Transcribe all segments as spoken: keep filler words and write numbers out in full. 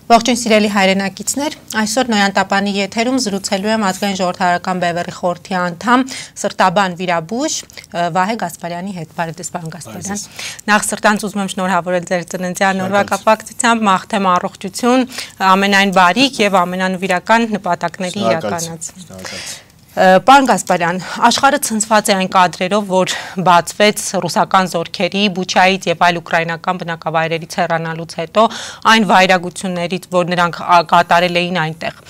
Ողջույն սիրելի հայրենակիցներ, այսօր Նոյանտապանի եթերում զրուցելու եմ ազգային ժողովրդական բևեռի խորհրդի անդամ սրտաբան վիրաբույժ Վահե Գասպարյանի հետ։ Բարև պարոն Գասպարյան։ Նախ սրտանց ուզում եմ շնորհավորել ձեր ծննդյան օրվա կապակցությամբ, մաղթեմ առողջություն, ամենայն բարիք եւ ամենանվիրական նպատակների իրականացում։ Պարոն Գասպարյան, աշխարհը ցնցված է այն կադրերով, որ բացվեց ռուսական զորքերի Բուչայից եւ այլ ուկրաինական բնակավայրերից հեռանալուց հետո այն վայրագություններից, որ նրանք կատարել էին այնտեղ։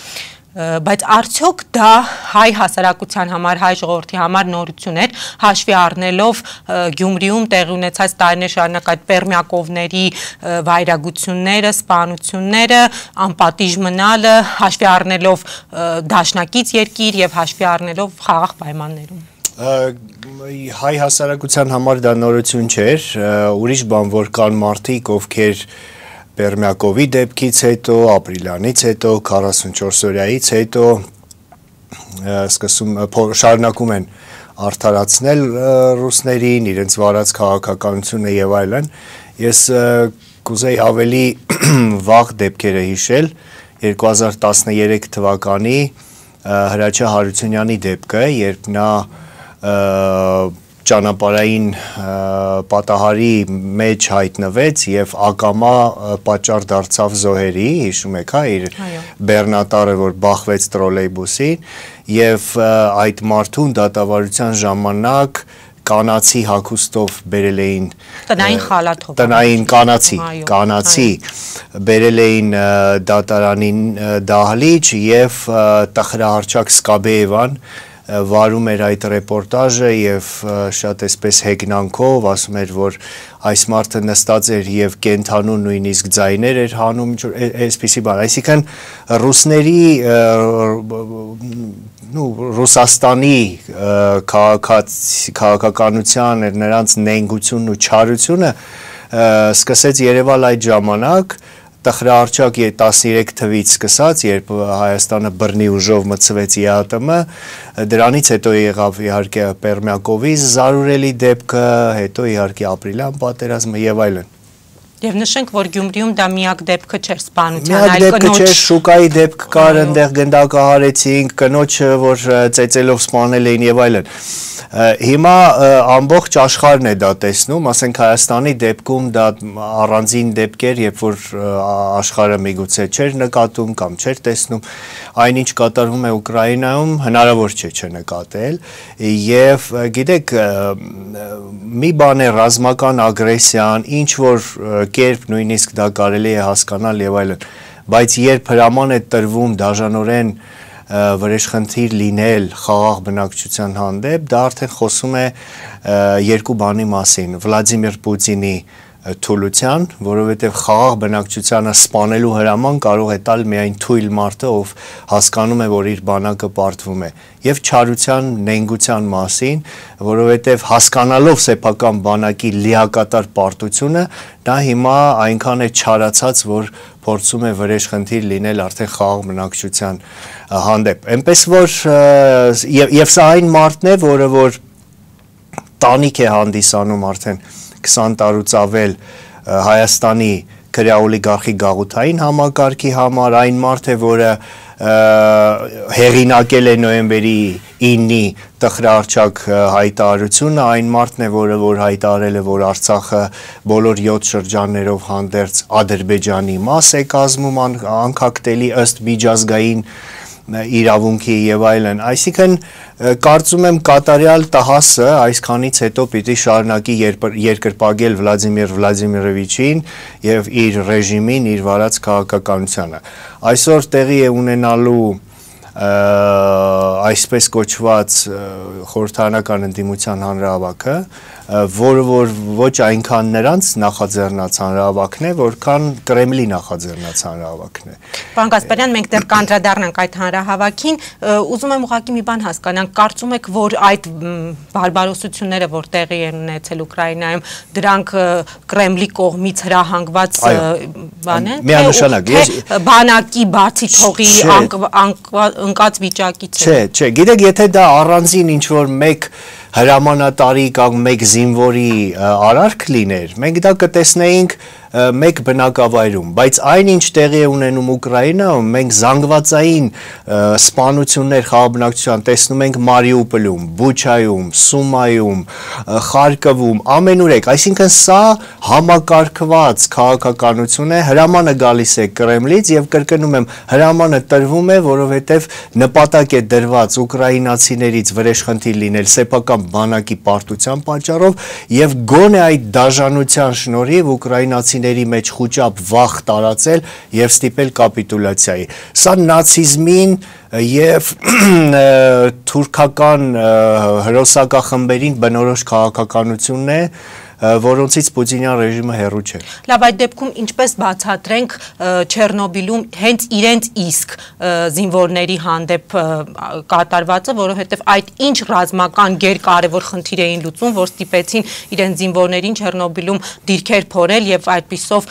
Բայց արդյոք դա հայ հասարակության համար, հայ ժողովրդի համար նորություն էր, հաշվի առնելով Գյումրիում տեղի ունեցած տարիներ շարունակ այդ Պերմյակովների վայրագությունները, սպանությունները, անպատիժ մնալը, հաշվի առնելով դաշնակից երկիր եւ հաշվի առնելով խաղաղ պայմաններում։ Հայ հասարակության համար դա նորություն չէր, ուրիշ բան, որ կան մարդիկ, ովքեր Պերմյակովի դեպքից հետո, ապրիլյանից հետո, քառասունչորս օրյայից հետո սկսում շարունակում են արդարացնել ռուսներին, իրենց վարած քաղաքականությունը եւ այլն։ Ես կուզեի ավելի վաղ դեպքերը հիշել, երկու հազար տասներեք թվականի Հրաչյա Հարությունյանի դեպքը, երբ նա ճանապարհային պատահարի մեջ հայտնվեց եւ ակամա պատճառ դարձավ զոհերի, հիշում եք, հա, իր բեռնատարը, որ բախվեց տրոլեյբուսին եւ այդ մարդուն դատավարության ժամանակ կանացի հագուստով բերել էին տնային խալաթով, տնային կանացի, կանացի բերել էին դատարանին դահլիճ եւ Տխրահարչակ Սկաբեևան վարում էր այդ ռեպորտաժը եւ շատ էսպես հեգնանքով ասում էր, որ այս մարդը նստած էր եւ կենթանու նույնիսկ ձայներ էր հանում, այսպիսի բան, այսինքն ռուսների նու Ռուսաստանի քաղաքականության նրանց նենգությունն ու չարությունը սկսեց երևալ այդ ժամանակ Տխրահարչակ տասներեք թվից սկսած, երբ Հայաստանը բռնի ուժով մտցվեց ի ՀԱՏՄ, դրանից հետո եղավ իհարկե Պերմյակովի զարուրելի դեպքը, հետո իհարկե ապրիլյան պատերազմը եւ այլն։ Եվ նշենք, որ Գյումրիում դա միակ դեպքը չէր սպանության, այլ կնոջ։ Միակ դեպքը չէր, շուկայի դեպք կար, այնտեղ գնդակահարեցինք, կնոջը, որ ծեծելով սպանել էին եւ այլն։ Հիմա ամբողջ աշխարհն է դա տեսնում, ասենք Հայաստանի դեպքում դա առանձին դեպքեր, երբ որ աշխարհը միգուցե չէր նկատում կամ չէր տեսնում, այնինչ կատարվում է Ուկրաինայում, հնարավոր չէ չնկատել, եւ գիտեք, մի բան է ռազմական ագրեսիան, ինչ որ կերպ նույնիսկ դա կարելի է հասկանալ եւ այլն, բայց երբ հրաման է տրվում դաժանորեն վրեժխնդիր լինել խաղաղ բնակչության հանդեպ, դա արդեն խոսում է երկու բանի մասին, Վլադիմիր Պուտինի թուլության, որովհետև խաղաղ բնակչությանը սպանելու հրաման կարող է տալ միայն թույլ մարդը, ով հասկանում է, որ իր բանակը պարտվում է, եւ չարության, նենգության մասին, որովհետև հասկանալով սեփական բանակի լիակատար պարտությունը, դա հիմա այնքան է չարացած, որ փորձում է վրեժխնդիր լինել արդեն խաղաղ բնակչության հանդեպ։ Այնպես որ եւ եւ սա այն մարդն է, որը որ տանիք է հանդիսանում արդեն քսան տարուց ավել Հայաստանի քրեաօլիգարխի գաղութային համակարգի համար, այն մարդ է, որը հեղինակել է նոյեմբերի ինի Տխրահարչակ հայտարարությունը, այն մարդն է, որը որ հայտարարել է, որ Արցախը բոլոր յոթ շրջաններով հանդերձ Ադրբեջանի մաս է կազմում, անկախտելի ըստ միջազգային իրավունքի եւ այլն, այսինքն կարծում եմ կատարյալ տհասը այսքանից հետո պիտի շարունակի երկրպագել Վլադիմիր Վլադիմիրովիչին եւ իր ռեժիմին, իր վարած քաղաքականությանը։ Այսօր տեղի է ունենալու այսպես կոչված խորհրդարանական ընդդիմության հանրահավաքը, որը որ ոչ այնքան նրանց նախաձեռնած հանրահավաքն է, որքան Կրեմլի նախաձեռնած հանրահավաքն է։ Պարոն Գասպարյան, մենք դեռ կանդրադառնանք այդ հանրահավաքին, ուզում եմ ուղղակի մի բան հասկանանք, կարծում եք, որ այդ բարբարոսությունները, որ տեղի են ունեցել Ուկրաինայում, դրանք Կրեմլի կողմից հրահանգված բան են, միանշանակ, բանակի բացի թողի ընկած վիճակից է։ Չէ, չէ, գիտեք, եթե դա առանձին ինչ որ մեկ հրամանատարի կամ մեկ զինվորի արարք լիներ, մենք դա կտեսնեինք մեկ բնակավայրում, բայց այն ինչ տեղի է ունենում Ուկրաինայում, մենք զանգվածային սպանություններ խաղաբնակչության տեսնում ենք Մարիուպոլում, Բուչայում, Սումայում, Խարկովում, ամենուրեք, այսինքն սա համակարգված քաղաքականություն է, հրամանը գալիս է Կրեմլից եւ կրկնում եմ, հրամանը տրվում է, որովհետեւ նպատակ է դրված ուկրաինացիներից վրեժխնդիր լինել սեփական բանակի պարտության պատճառով եւ գոնե այդ դաժանության շնորհիվ ուկրաինացիների մեջ խոճապ վախ տարածել եւ ստիպել կապիտուլյացիայի։ Սա նացիզմին եւ թուրքական հրոսակախմբերին բնորոշ քաղաքականությունն է, որոնցից Պուտինյան ռեժիմը հեռու չէ։ Լավ, այդ դեպքում ինչպես բացատրենք Չեռնոբիլում հենց իրենց իսկ զինվորների հանդեպ կատարվածը, որովհետև այդ ինչ ռազմական գերկարևոր խնդիր էին լուծում, որ ստիպեցին իրենց զինվորներին Չեռնոբիլում դիրքեր փորել եւ այդպիսով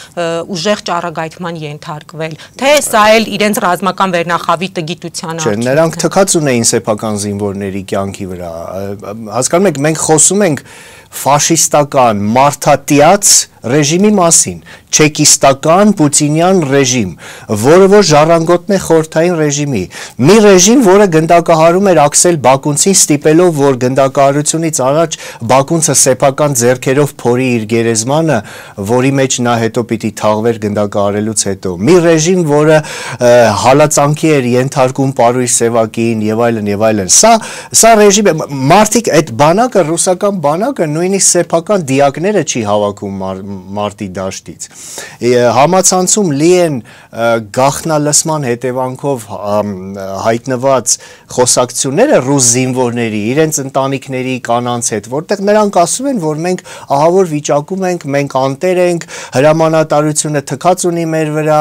ուժեղ ճառագայթման ենթարկվել։ Թե սա էլ իրենց ռազմական վերնախավի տգիտության արդյունք է։ Չէ, նրանք թքած ունեին սեփական զինվորների կյանքի վրա։ Հասկանում եք, մենք խոսում ենք ֆաշիստական մարդատիաց ռեժիմի մասին, չեկիստական պուտինյան ռեժիմ, որը որ ժառանգոտն է խորհրդային ռեժիմի, մի ռեժիմ, որը գնդակահարում էր Աքսել Բակունցին, ստիպելով, որ գնդակահարությունից առաջ Բակունցը սեփական ձեռքերով փորի իր գերեզմանը, որի մեջ նա հետո պիտի թաղվեր գնդակահարելուց հետո, մի ռեժիմ, որը հալածանքի էր ենթարկում Պարույր Սևակին եւ այլն եւ այլն։ Սա սա ռեժիմ է, մարդիկ այդ բանակը, ռուսական բանակը նույնիսկ սեփական դիակները չի հավաքում մարտի դաշտից։ Համացանցում լի են գաղտնալսման հետևանքով հայտնված խոսակցությունները ռուս զինվորների, իրենց ընտանիքների կանանց հետ, որտեղ նրանք ասում են, որ մենք ահավոր վիճակում ենք, մենք անտեր ենք, հրամանատարությունը թքած ունի մեր վրա,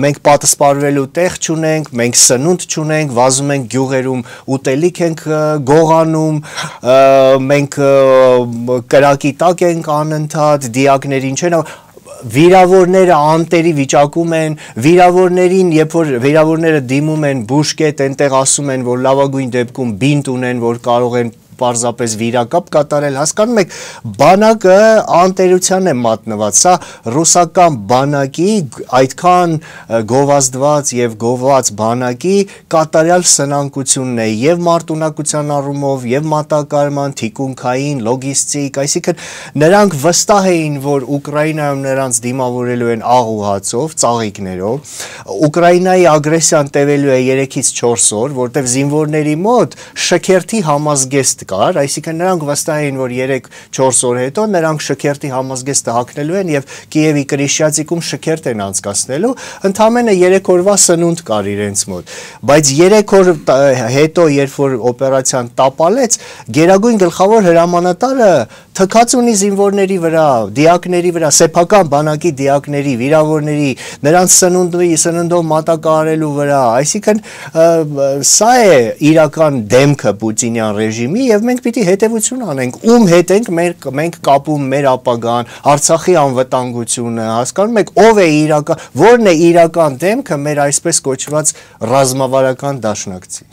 մենք պատասպարվելու տեղ չունենք, մենք սնունդ չունենք, վազում ենք գյուղերում, ուտելիք ենք գողանում, մենք կրակի տակ ենք անընդհատ, դիակներին չեն, վիրավորները անտերի վիճակում են, վիրավորներին, երբ որ վիրավորները դիմում են բուժկետ, այնտեղ ասում են, որ լավագույն դեպքում բինտ ունեն, որ կարող են պարզապես վիրակապ կատարել, հասկանում եք, բանակը անտերության է մատնված, սա ռուսական բանակի, այդքան գովազդված եւ գովված բանակի կատարյալ սնանկությունն է եւ մարտունակության առումով եւ մատակարարման, թիկունքային, լոգիստիկ, այսինքն նրանք վստահ էին, որ Ուկրաինայում նրանց դիմավորելու են աղ ու հացով, ծաղիկներով, Ուկրաինայի ագրեսիան տևելու է երեքից չորս օր, որտեղ զինվորների մոտ շքերթի համազգեստ կար, այսինքն նրանք վստահ էին, որ երեք-չորս օր հետո նրանք շքերթի համազգեստը հագնելու են եւ Կիևի Կրիշչյացիկում շքերթ են անցկացնելու, ընդամենը երեք օրվա սնունդ կար իրենց մոտ, բայց երեք օր հետո, երբ որ օպերացիան տապալեց, գերագույն գլխավոր հրամանատարը թքած ունի զինվորների վրա, դիակների վրա, սեփական բանակի դիակների, վիրավորների, նրանց սնունդի, սննդով մատակարարելու վրա, այսինքն սա է իրական դեմքը Պուտինյան ռեժիմի եւ մենք պիտի հետեւություն անենք, ում հետ ենք մենք մենք կապում մեր ապագան, Արցախի անվտանգությունը, հասկանում եք, ով է իրական, որն է իրական դեմքը մեր այսպես կոչված ռազմավարական դաշնակցի։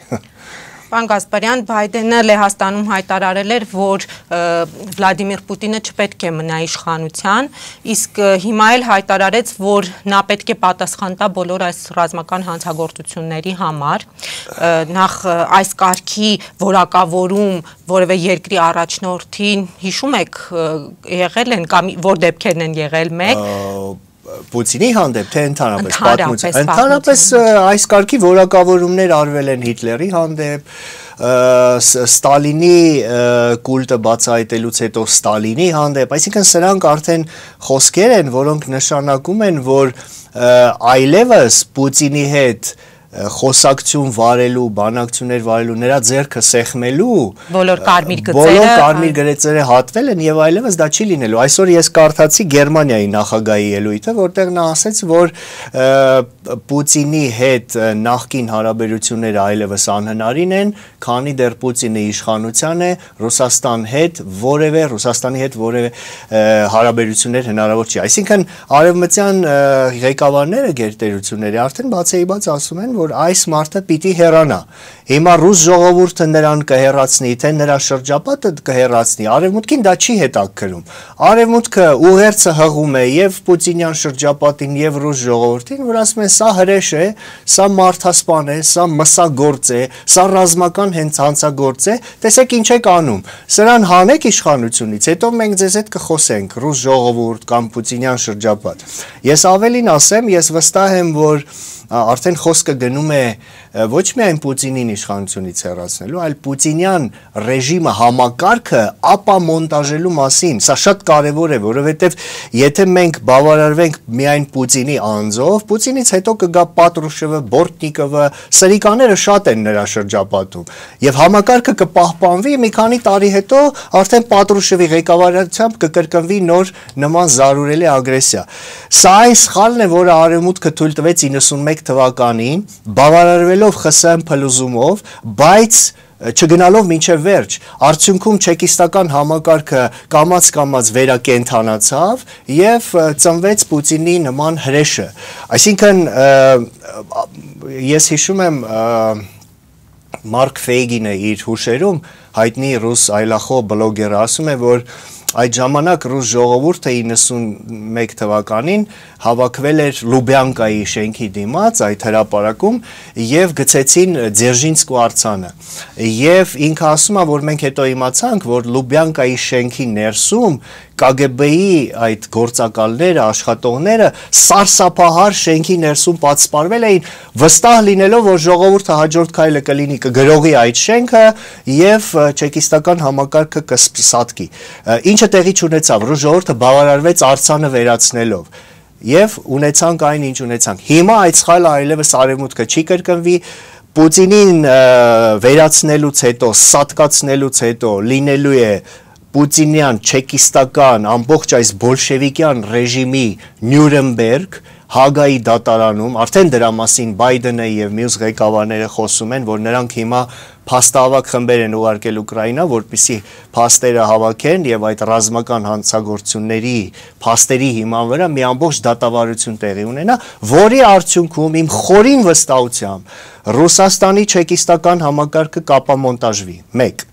Պարոն Գասպարյան, Բայդենը Լեհաստանում հայտարարել էր, որ Վլադիմիր Պուտինը չպետք է մնա իշխանության, իսկ հիմա էլ հայտարարեց, որ նա պետք է պատասխան տա բոլոր այս ռազմական հանցագործությունների համար, նախ այս կարգի որակավորում որևէ երկրի առաջնորդին հիշում եք եղել են կամ որ դեպքերն են եղել մեկ Պուտինի հանդեպ, թե ընդհանրապես պատմություն։ Ընդհանրապես այս կարգի որակավորումներ արվել են Հիտլերի հանդեպ, Ստալինի կուլտը բացահայտելուց հետո Ստալինի հանդեպ, այսինքն սրանք արդեն խոսքեր են, որոնք նշանակում են, որ այլևս Պուտինի հետ խոսակցություն վարելու, բանակցություններ վարելու, նրա ձեռքը սեղմելու, բոլոր կարմիր գծերը, բոլոր կարմիր գծերը հատվել են եւ այլևս դա չի լինելու։ Այսօր ես կարդացի Գերմանիայի նախագահի ելույթը, որտեղ նա ասաց, որ Պուտինի հետ նախկին հարաբերությունները այլևս անհնարին են, քանի դեռ Պուտինը իշխանության է, Ռուսաստան հետ որևէ, Ռուսաստանի հետ որևէ հարաբերություններ հնարավոր չի։ Այսինքն արևմտյան ղեկավարները գերտերությունների արդեն բացեիբաց ասում են, որ այս մարդը պիտի հեռանա Հիմա ռուս ժողովուրդը նրան կհեռացնի, թե նրա շրջապատը կհեռացնի, արևմուտքին դա չի հետաքրքրում։ Արևմուտքը ուղերձը հղում է եւ պուտինյան շրջապատին եւ ռուս ժողովրդին, որ ասում են սա հրեշ է, սա մարդասպան է, սա մսագործ է, սա ռազմական հենց հանցագործ է, տեսեք ինչ եք անում։ Սրան հանեք իշխանությունից, հետո մենք ձեզ հետ կխոսենք, ռուս ժողովուրդ կամ պուտինյան շրջապատ։ Ես ավելին ասեմ, ես վստահ եմ, որ արդեն խոսքը գնում է ոչ միայն Պուտինին իշխանությունից հեռացնելու, այլ պուտինյան ռեժիմը համակարգը ապամոնտաժելու մասին։ Սա շատ կարևոր է, որովհետև եթե մենք բավարարվենք միայն Պուտինի անձով, Պուտինից հետո կգա Պատրուշևը, Բորտնիկովը, սրիկաները շատ են նրա շրջապատում, եւ համակարգը կպահպանվի, մի քանի տարի հետո արդեն Պատրուշևի ղեկավարությամբ կկրկնվի նոր նման զարուրելի ագրեսիա։ Սա այն սխալն է, որը արևմուտքը թույլ տվեց իննսունմեկ թվականին, բավարարվելով ԽՍՀՄ փլուզումով, բայց չգնալով մինչև վերջ, արդյունքում չեկիստական համակարգը կամաց-կամաց վերակենդանացավ եւ ծնվեց Պուտինի նման հրեշը։ Այսինքն ես հիշում եմ Մարկ Ֆեյգինը իր հուշերում հայտնի ռուս այլախոհ բլոգերը ասում է, որ այդ ժամանակ ռուս ժողովուրդը իննսունմեկ թվականին հավաքվել էր Լուբյանկայի շենքի դիմաց այդ հրապարակում եւ գցեցին Ձերժինսկու արձանը եւ ինքը ասում է, որ մենք հետո իմացանք, որ Լուբյանկայի շենքի ներսում Կ Գ B-ի այդ գործակալները, աշխատողները սարսափահար շենքի ներսում պատսպարվել էին, վստահ լինելով, որ ժողովուրդը հաջորդ քայլը կլինի կգրողի այդ շենքը եւ չեկիստական համակարգը կսատկի։ Ինչը տեղի չունեցավ, ռուս ժողովուրդը բավարարվեց արձանը վերացնելով եւ ունեցանք այն, ինչ ունեցանք։ Հիմա այդ սխալը այլևս արևմուտքը չի կրկնվի, Պուտինին վերացնելուց հետո, սատկացնելուց հետո լինելու է Պուտինյան, չեկիստական, ամբողջ այս բոլշևիկյան ռեժիմի Նյուրնբերգ, Հագայի դատարանում, արդեն դրա մասին Բայդենը եւ մյուս ղեկավարները խոսում են, որ նրանք հիմա փաստահավաք խմբեր են ուղարկել Ուկրաինա, որպեսզի փաստերը հավաքեն եւ այդ ռազմական հանցագործությունների փաստերի հիման վրա մի ամբողջ դատավարություն տեղի ունենա, որի արդյունքում իմ խորին վստահությամբ Ռուսաստանի չեկիստական համակարգը կապամոնտաժվի։ մեկ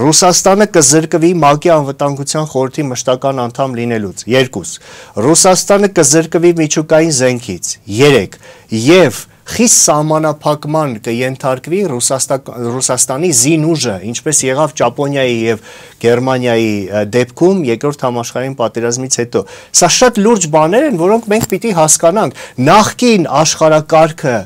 Ռուսաստանը կզրկվի ՄԱԿ-ի անվտանգության խորհրդի մշտական անդամ լինելուց։ երկու Ռուսաստանը կզրկվի միջուկային զենքից։ երեք Եվ խիստ սահմանափակման կենթարկվի Ռուսաստանի զինուժը, ինչպես եղավ Ճապոնիայի եւ Գերմանիայի դեպքում երկրորդ համաշխարհային պատերազմից հետո։ Սա շատ լուրջ բաներ են, որոնք մենք պիտի հասկանանք։ Նախկին աշխարհակարգը,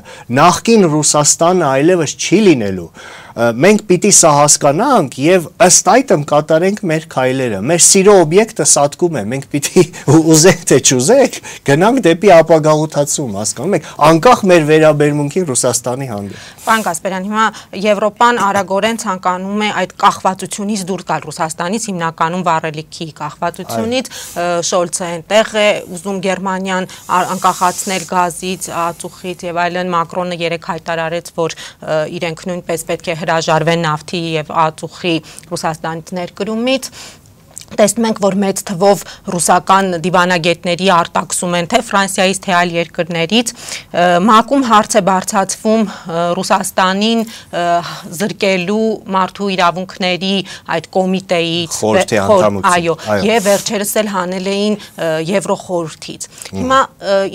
նախկին Ռուսաստանը այլևս չի լինելու։ Մենք պիտի սա հասկանանք եւ ըստ այդմ կատարենք մեր քայլերը։ Մեր սիրո օբյեկտը սատկում է, մենք պիտի ուզենք թե չուզենք, գնանք դեպի ապագաղութացում, հասկանում եք, անկախ մեր վերաբերմունքի Ռուսաստանի հանդեպ։ Պարոն Գասպարյան, հիմա Եվրոպան արագորեն ցանկանում է այդ կախվածությունից դուրս գալ Ռուսաստանից, հիմնականում վառելիքի կախվածությունից, Շոլցը այնտեղ է ուզում Գերմանիան անկախացնել գազից, ածուխից եւ այլն, Մակրոնը երեք հայտարարեց, որ իրենք նույնպես պետք է հրաժարվեն նավթի եւ ածուխի Ռուսաստանից ներկրումից։ Տեսնում ենք, որ մեծ թվով ռուսական դիվանագետների արտաքսում են թե Ֆրանսիայից, թե այլ երկրներից, ՄԱԿ-ում հարց է բարձրացվում Ռուսաստանին զրկելու մարդու իրավունքների այդ կոմիտեից, այո, եւ վերջերս էլ հանել էին Եվրոխորհրդից։ Հիմա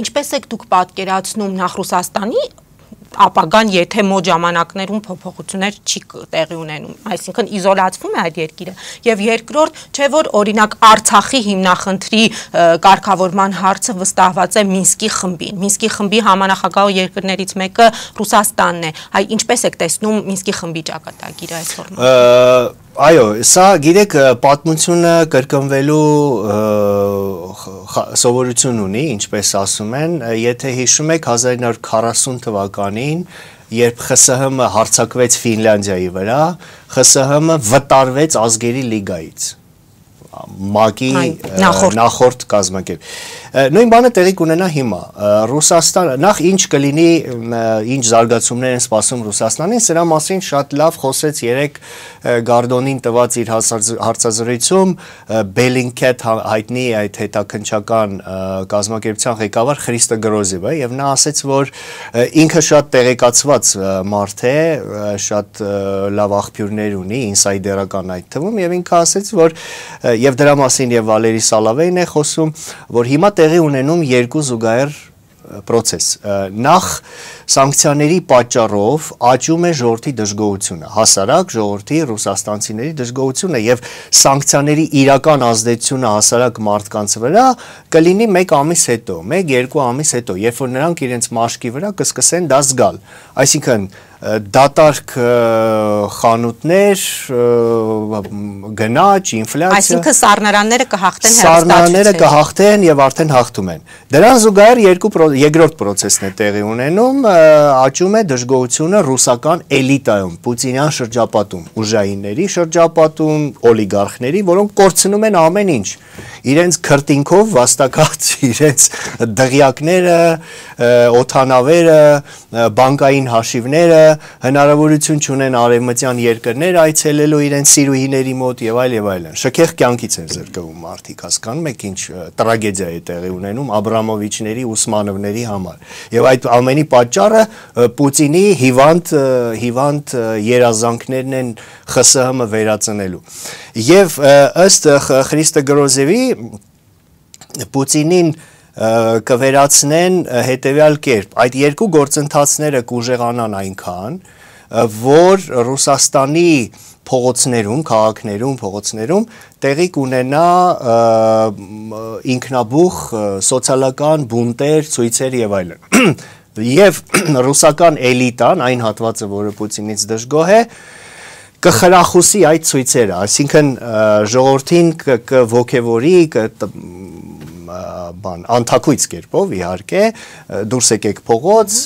ինչպես եք դուք պատկերացնում նախ Ռուսաստանի ապագան, եթե մոտ ժամանակներում փոփոխություններ չի տեղի ունենում, այսինքն իզոլացվում է այդ երկիրը, եւ երկրորդ, չէ որ օրինակ Արցախի հիմնախնդրի կարգավորման հարցը վստահված է Մինսկի խմբին։ Մինսկի խմբի համանախագահ երկրներից մեկը Ռուսաստանն է։ Այ ինչպես եք տեսնում Մինսկի խմբի ճակատագիրը այս ֆորմատում։ Այո, սա գիտեք պատմությունը կրկնվելու սովորություն ունի, ինչպես ասում են, եթե հիշում եք հազար ինը հարյուր քառասուն թվականին, երբ ԽՍՀՄ հարձակվեց Ֆինլանդիայի վրա, ԽՍՀՄ վտարվեց ազգերի լիգայից, ՄԱԿ-ի նախորդ կազմակերպ։ Նույն բանը տեղի կունենա հիմա։ Ռուսաստանը նախ ինչ կլինի, ինչ զարգացումներ են սպասում Ռուսաստանին, սրա մասին շատ լավ խոսեց երեք Գարդոնին տված իր հարցազրույցում Bellingcat հայտնի այդ հետաքննչական կազմակերպության ղեկավար Խրիստո Գրոզևը, եւ նա ասաց, որ ինքը շատ տեղեկացված մարդ է, շատ լավ աղբյուրներ ունի, ինսայդերական այդ թվում, եւ ինքը ասաց, որ եւ դրա մասին եւ Վալերի Սալավեյն է խոսում, որ հիմա տեղի ունենում երկու զուգահեռ process. Նախ սանկցիաների պատճառով աճում է ժողովրդի դժգոհությունը, հասարակ ժողովրդի ռուսաստանցիների դժգոհությունը եւ սանկցիաների իրական ազդեցությունը հասարակ մարդկանց վրա կլինի մեկ ամիս հետո, մեկ երկու ամիս հետո, երբ որ նրանք իրենց մաշկի վրա կսկսեն դա զգալ։ Այսինքն դատարկ խանութներ, գնաճ, ինֆլյացիա։ Այսինքն սառնարանները կհաղթեն Սառնարանները կհաղթեն եւ արդեն հաղթում են։ Դրան զուգահեռ երկու երկրորդ process-ն է տեղի ունենում, աճում է դժգոհությունը ռուսական էլիտայում, պուտինյան շրջապատում, ուժայինների շրջապատում, օլիգարխների, որոնք կորցնում են ամեն ինչ։ Իրենց քրտինքով վաստակած իրենց դղյակները, օթանավերը, բանկային հաշիվները, հնարավորություն չունեն արևմտյան երկրներ այցելելու իրենց սիրուհիների մոտ եւ այլ եւ այլն։ Շքեղ կյանքից են զրկվում մարդիկ, հասկանում եք ինչ տրագեդիա է տեղի ունենում Աբրամովիչների, Ուսմանովների համար։ Եւ այդ ամենի պատճառը Պուտինի հիվանդ հիվանդ երազանքներն են ԽՍՀՄ վերածնելու։ Եվ ըստ Խրիստո Գրոզևի Պուտինին կվերացնեն հետևյալ կերպ, այդ երկու գործընթացները կուժեղանան այնքան, որ Ռուսաստանի փողոցներում, քաղաքներում, փողոցներում տեղի կունենա ինքնաբուխ սոցիալական բունտեր, ցույցեր եւ այլն։ Եվ ռուսական էլիտան, այն հատվածը, որը Պուտինից դժգոհ է, կխրախուսի այդ ցույցերը, այսինքն ժողովրդին կողքեվորի, բան անթակույց կերպով իհարկե դուրս եկեք փողոց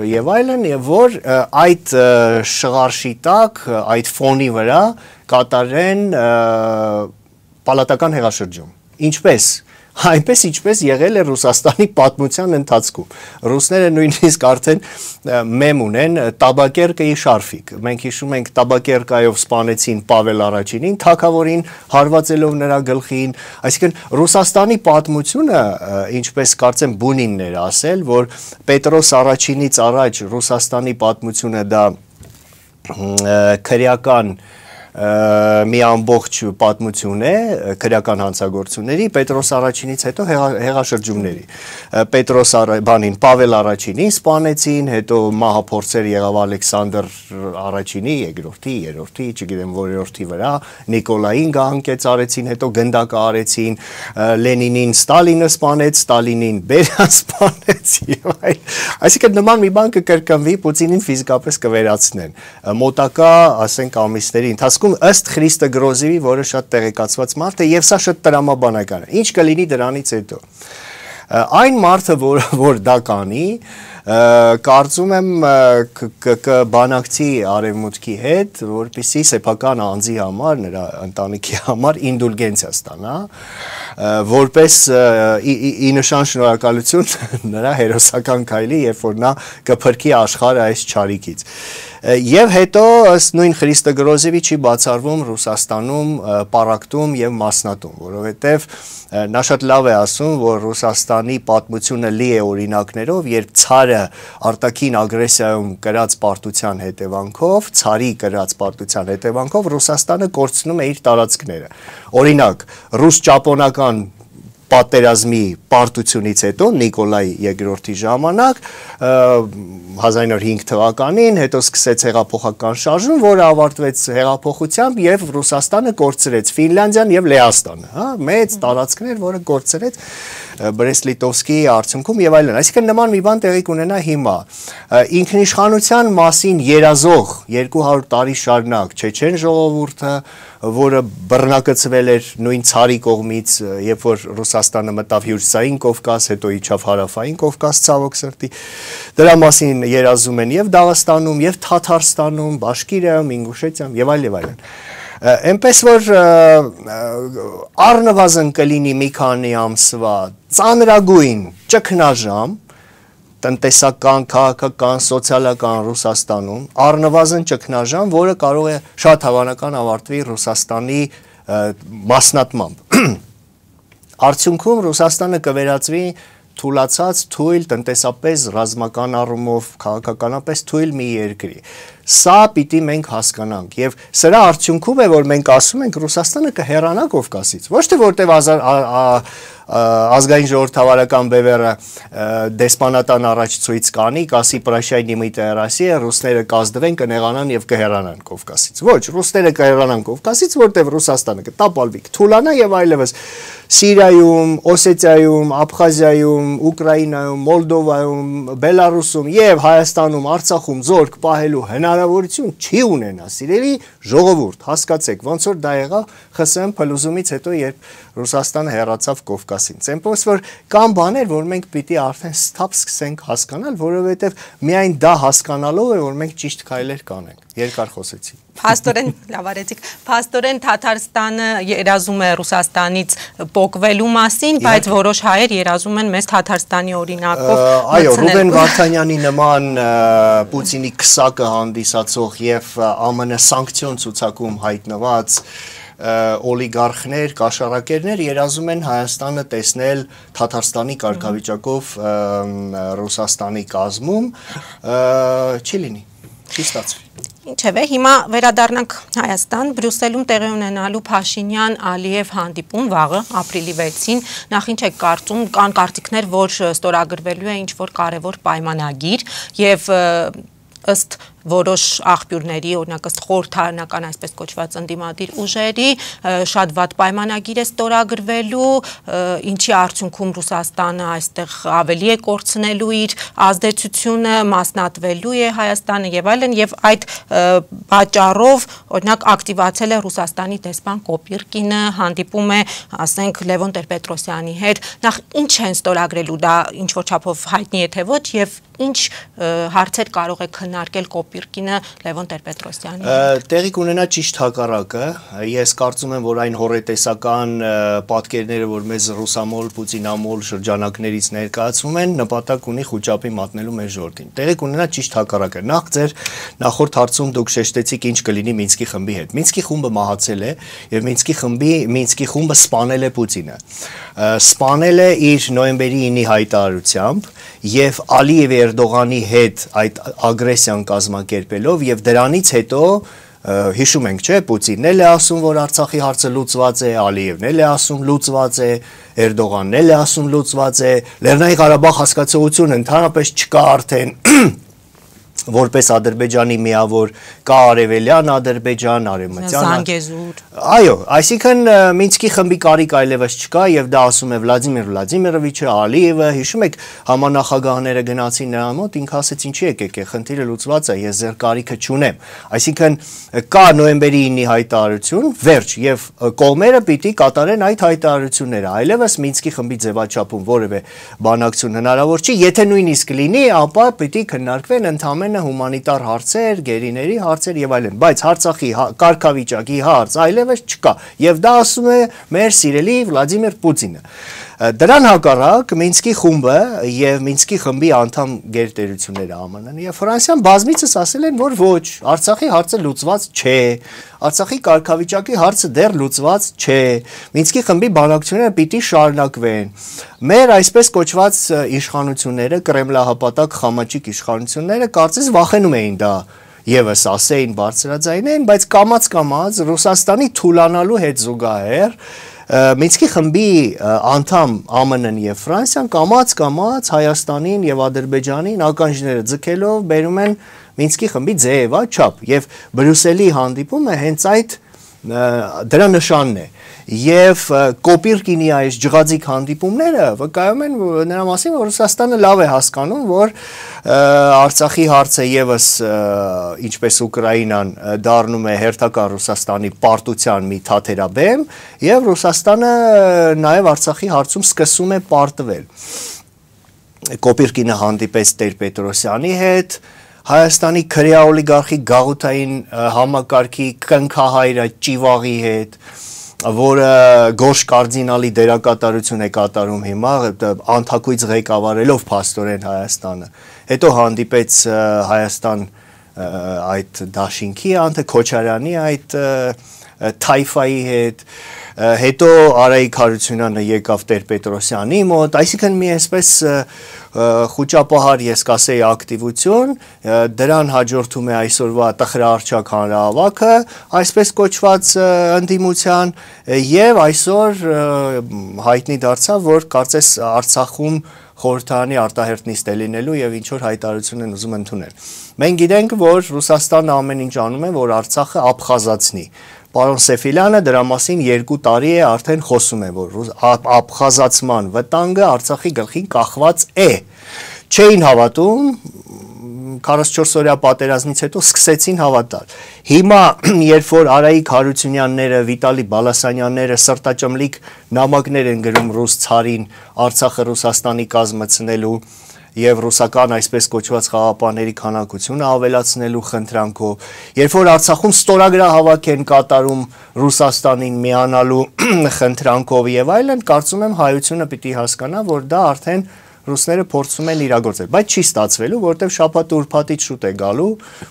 եւ այլն, եւ որ այդ շղարշի տակ, այդ ֆոնի վրա կատարեն պալատական հեղաշրջում։ Ինչպես Այնպես ինչպես եղել է Ռուսաստանի պատմության ընթացքում։ Ռուսները նույնիսկ արդեն մեմ ունեն տաբակերկայի շարֆիկ։ Մենք հիշում ենք տաբակերկայով սպանեցին Պավել Առաջինին, թագավորին հարվածելով նրա գլխին։ Այսինքն Ռուսաստանի պատմությունը, ինչպես կարծեմ Բունինն էր ասել, որ Պետրոս Առաջինից առաջ Ռուսաստանի պատմությունը դա քրեական մի ամբողջ պատմություն է քրեական հանցագործությունների, Պետրոս Առաջինից հետո հեղաշրջումների։ Պետրոս բանին Պավել Առաջինին սպանեցին, հետո մահափորձեր եղավ Ալեքսանդր Առաջինի, երկրորդի, երրորդի, չգիտեմ որերորդի վրա, Նիկոլային գահանկեց արեցին, հետո գնդակը արեցին, Լենինին Ստալինը սպանեց, Ստալինին Բերիան սպանեց եւ այլ։ Այսինքն նման մի բան կկրկնվի, Պուտինին ֆիզիկապես կվերացնեն։ Մոտակա, ասենք ամիսների ընթացքում ըստ Խրիստո Գրոզևի, որը շատ տեղեկացված մարդ է եւ սա շատ տրամաբանական է։ Ինչ կլինի դրանից հետո։ Այն մարդը, որ որ դա կանի, կարծում եմ կբանակցի արևմուտքի հետ, որպեսզի սեփական անձի համար, նրա ընտանիքի համար ինդուլգենցիա ստանա, որպես ի նշան շնորհակալություն նրա հերոսական քայլի, երբ որ նա կփրկի աշխարհը այս չարիքից։ Եվ հետո ըստ նույն Խրիստո Գրոզևի չի բացառվում Ռուսաստանում պարակտում եւ մասնատում, որովհետեւ նա շատ լավ է ասում, որ Ռուսաստանի պատմությունը լի է օրինակներով, երբ ցարը արտաքին ագրեսիայում կրած պարտության հետևանքով, ցարի կրած պարտության հետևանքով Ռուսաստանը կորցնում է իր տարածքները։ Օրինակ, ռուս-ճապոնական պատերազմի պարտությունից հետո Նիկոլայ երկրորդի ժամանակ հազար ինը հինգ թվականին հետո սկսեց հեղափոխական շարժում, որը ավարտվեց հեղափոխությամբ եւ Ռուսաստանը կորցրեց Ֆինլանդիան եւ Լեհաստանը, հա, մեծ տարածքներ, որը կորցրեց Բրեստ-Լիտովսկի արդյունքում եւ այլն։ Այսինքն նման մի բան տեղի կունենա հիմա։ Ինքնիշխանության մասին երազող երկու հարյուր տարի շարունակ չեչեն ժողովուրդը, որը բռնակցվել էր նույն ցարի կողմից, երբ որ Ռուսաստանը մտավ Հյուսիսային Կովկաս, հետո իջավ Հարավային Կովկաս, ցավոք սրտի։ Դրա մասին երազում են եւ Դաղստանում, եւ Թաթարստանում, Բաշկիրիայում, Ինգուշետիայում եւ այլ եւ այլն։ Այնպես որ առնվազն կլինի մի քանի ամսվա ծանրագույն ճգնաժամ տնտեսական, քաղաքական, սոցիալական Ռուսաստանում, առնվազն ճգնաժամ, որը կարող է շատ հավանական ավարտվի Ռուսաստանի մասնատմամբ։ Արդյունքում Ռուսաստանը կվերածվի թուլացած, թույլ, տնտեսապես, ռազմական առումով, քաղաքականապես թույլ մի երկրի։ Սա պիտի մենք հասկանանք եւ սրա արդյունքում է որ մենք ասում ենք Ռուսաստանը կհեռանա Կովկասից ոչ թե որտեւ ազգային ժողովրդավարական բևեռը դեսպանատան առաջ ցույց կանի կասի Պրաշիայի նիմիտը Ռոսիա ռուսները կազդվեն կնեղանան եւ կհեռանան Կովկասից ոչ ռուսները կհեռանան Կովկասից որտեւ Ռուսաստանը կտապալվի կթուլանա եւ այլևս Սիրիայում, Օսետիայում, Աբխազիայում, Ուկրաինայում, Մոլդովայում, Բելարուսում եւ Հայաստանում, Արցախում զորք պահելու հնարավորություն չի ունենա, սիրելի ժողովուրդ, հասկացեք, ոնց որ դա եղավ ԽՍՀՄ փլուզումից հետո, երբ Ռուսաստանը հեռացավ Կովկասին։ Ցեմպոս որ կան բաներ, որ մենք պիտի արդեն ստապ սկսենք հասկանալ, որովհետեւ միայն դա հասկանալով է, որ մենք ճիշտ քայլեր կանենք։ Երկար խոսեցի։ Փաստորեն, լավ արեցիք, փաստորեն Թաթարստանը երազում է Ռուսաստանից պոկվելու մասին, բայց որոշ հայեր երազում են մեզ Թաթարստանի օրինակով մտցնել։ Այո, Ռուբեն Վարդանյանի նման Պուտինի քսակը հանդիսացող եւ ԱՄՆ սանկցիոն ցուցակում հայտնված օլիգարխներ, կաշառակերներ երազում են Հայաստանը տեսնել Թաթարստանի կարգավիճակով Ռուսաստանի կազմում, չի լինի, չի ստացվի։ Ինչևէ, հիմա վերադառնանք Հայաստան, Բրյուսելում տեղի ունենալու Փաշինյան-Ալիև հանդիպում վաղը, ապրիլի վեցին, նախ ինչ եք կարծում, կան կարծիքներ, որ ստորագրվելու է ինչ-որ կարևոր պայմանագիր եւ ըստ որոշ աղբյուրների, օրինակ ըստ խորհրդարանական այսպես կոչված ընդդիմադիր ուժերի, շատ վատ պայմանագիր է ստորագրվելու, ինչի արդյունքում Ռուսաստանը այստեղ ավելի է կորցնելու իր ազդեցությունը, մասնատվելու է Հայաստանը եւ այլն, եւ այդ պատճառով, օրինակ ակտիվացել է Ռուսաստանի դեսպան Կոպիրկինը, հանդիպում է, ասենք, Լևոն Տեր-Պետրոսյանի հետ, նախ ինչ են ստորագրելու, դա ինչ որ չափով հայտնի է թե ոչ, եւ ինչ հարցեր կարող է քննարկել Կոպիրկինը Լևոն Տեր-Պետրոսյանի։ Տեղի կունենա ճիշտ հակառակը, ես կարծում եմ, որ այն հորետեսական պատկերները, որ մեզ ռուսամոլ, պուտինամոլ շրջանակներից ներկայացվում են, նպատակ ունի խուճապի մատնելու մեր ժողովրդին։ Տեղի կունենա ճիշտ հակառակը։ Նախ ձեր նախորդ հարցում դուք շեշտեցիք ինչ կլինի Մինսկի խմբի հետ։ Մինսկի խումբը մահացել է եւ Մինսկի խմբի Մինսկի խումբը սպանել է Պուտինը։ Սպանել է իր նոյեմբերի ինի հայտարարությամբ եւ Ալիևի Էրդողանի հետ այդ ագրեսիան կազմակերպելով եւ դրանից հետո հիշում ենք, չէ, Պուտինն էլ է ասում, որ Արցախի հարցը լուծված է, Ալիևն էլ է ասում լուծված է, Էրդողանն էլ է ասում լուծված է, Լեռնային Ղարաբաղ հասկացողությունը ընդհանրապես չկա արդեն որպես Ադրբեջանի միավոր կա արևելյան Ադրբեջան, արևմտյան Զանգեզուր։ Այո, այսինքն Մինսկի խմբի կարիք այլևս չկա եւ դա ասում է Վլադիմիր Վլադիմիրովիչը, Ալիևը, հիշում եք համանախագահները գնացին նրա մոտ, ինքը ասեց ինչի եկեք, խնդիրը լուծված է, ես ձեր կարիքը չունեմ։ Այսինքն կա նոյեմբերի ինի հայտարարություն, վերջ եւ կողմերը պիտի կատարեն այդ հայտարարությունները, այլևս Մինսկի խմբի ձևաչափում որևէ բանակցություն հնարավոր չի, եթե նույնիսկ լինի, ապա պիտի քննարկվեն ընդհանրապես հումանիտար հարցեր, գերիների հարցեր եւ այլն, բայց Արցախի կարգավիճակի հարց այլևս չկա եւ դա ասում է մեր սիրելի Վլադիմիր Պուտինը։ Դրան հակառակ Մինսկի խումբը եւ Մինսկի խմբի անդամ գերտերությունները ԱՄՆ-ն եւ Ֆրանսիան բազմիցս ասել են, որ ոչ, Արցախի հարցը լուծված չէ, Արցախի կարգավիճակի հարցը դեռ լուծված չէ, Մինսկի խմբի բանակցությունները պիտի շարունակվեն։ Մեր այսպես կոչված իշխանությունները, կրեմլահապատակ խամաճիկ իշխանությունները կարծես վախենում էին դա եւս ասեին բարձրաձայնեն, բայց կամած-կամած Ռուսաստանի թուլանալու հետ զուգահեռ Մինսկի խմբի անդամ ԱՄՆ-ն եւ Ֆրանսիան կամած-կամած Հայաստանին եւ Ադրբեջանին ականջները ձգելով բերում են Մինսկի խմբի ձևաչափ եւ Բրյուսելի հանդիպումը հենց այդ դրա նշանն է եւ Կոպիրկինի այս ջղաձիկ հանդիպումները վկայում են նրա մասին, որ Ռուսաստանը լավ է հասկանում, որ Արցախի հարցը եւս ինչպես Ուկրաինան դառնում է հերթական Ռուսաստանի պարտության մի թաթերաբեմ եւ Ռուսաստանը նաեւ Արցախի հարցում սկսում է պարտվել։ Կոպիրկինը հանդիպեց Տեր-Պետրոսյանի հետ, Հայաստանի քրեա օլիգարխի գաղութային համակարգի կնքահայրը Ճիվաղի հետ, որը գորշ կարդինալի դերակատարություն է կատարում հիմա, անթակույց ղեկավարելով փաստորեն Հայաստանը, հետո հանդիպեց Հայաստան այդ դաշինքի անձը Քոչարյանի այդ թայֆայի հետ, հետո Արայիկ Հարությունյանը եկավ Տեր-Պետրոսյանի մոտ, այսինքն մի այսպես խուճապահար ես կասեի ակտիվություն, դրան հաջորդում է այսօրվա տխրահարճակ հանրահավաքը, այսպես կոչված ընդդիմության եւ այսօր հայտնի դարձավ, որ կարծես Արցախում խորհրդարանի արտահերթ նիստ է լինելու եւ ինչ որ հայտարարություն են ուզում ընդունել։ Մենք գիտենք, որ Ռուսաստանը ամեն ինչ անում է, որ Արցախը աբխազացնի։ Պարոն Սեֆիլյանը դրա մասին երկու տարի է արդեն խոսում է, որ աբխազացման վտանգը Արցախի գլխին կախված է։ Չէին հավատում, քառասունչորս օրյա պատերազմից հետո սկսեցին հավատալ։ Հիմա, երբ որ Արայիկ Հարությունյանները, Վիտալի Բալասանյանները սրտաճմլիկ նամակներ են գրում ռուս ցարին Արցախը Ռուսաստանի կազմեցնելու եւ ռուսական այսպես կոչված խաղապաների քանակությունը ավելացնելու խնդրանքով, երբ որ Արցախում ստորագրահավաք են կատարում Ռուսաստանին միանալու խնդրանքով եւ այլն, կարծում եմ հայությունը պիտի հասկանա, որ դա արդեն ռուսները փորձում են իրագործել, բայց չի ստացվելու, որտեղ շաբաթ ուրբաթից շուտ է գալու,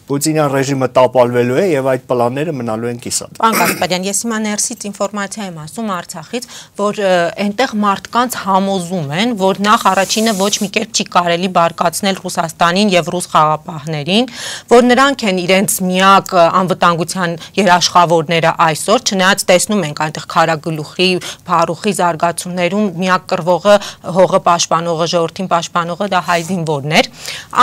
Պուտինյան ռեժիմը տապալվելու է եւ այդ պլանները մնալու են կիսատ։ Պարոն Գասպարյան, ես հիմա ներսից ինֆորմացիա եմ ասում Արցախից, որ այնտեղ մարդկանց համոզում են, որ նախ առաջինը ոչ մի կերպ չի կարելի բարկացնել Ռուսաստանին եւ ռուս խաղապահներին, որ նրանք են իրենց միակ անվտանգության երաշխավորները այսօր, չնայած տեսնում ենք այնտեղ քարագլուխի, փառուխի զարգացումներում միակ կռվողը հողը պաշտպանողը ժողովրդին պաշտպանողը դա հայ զինվորներ։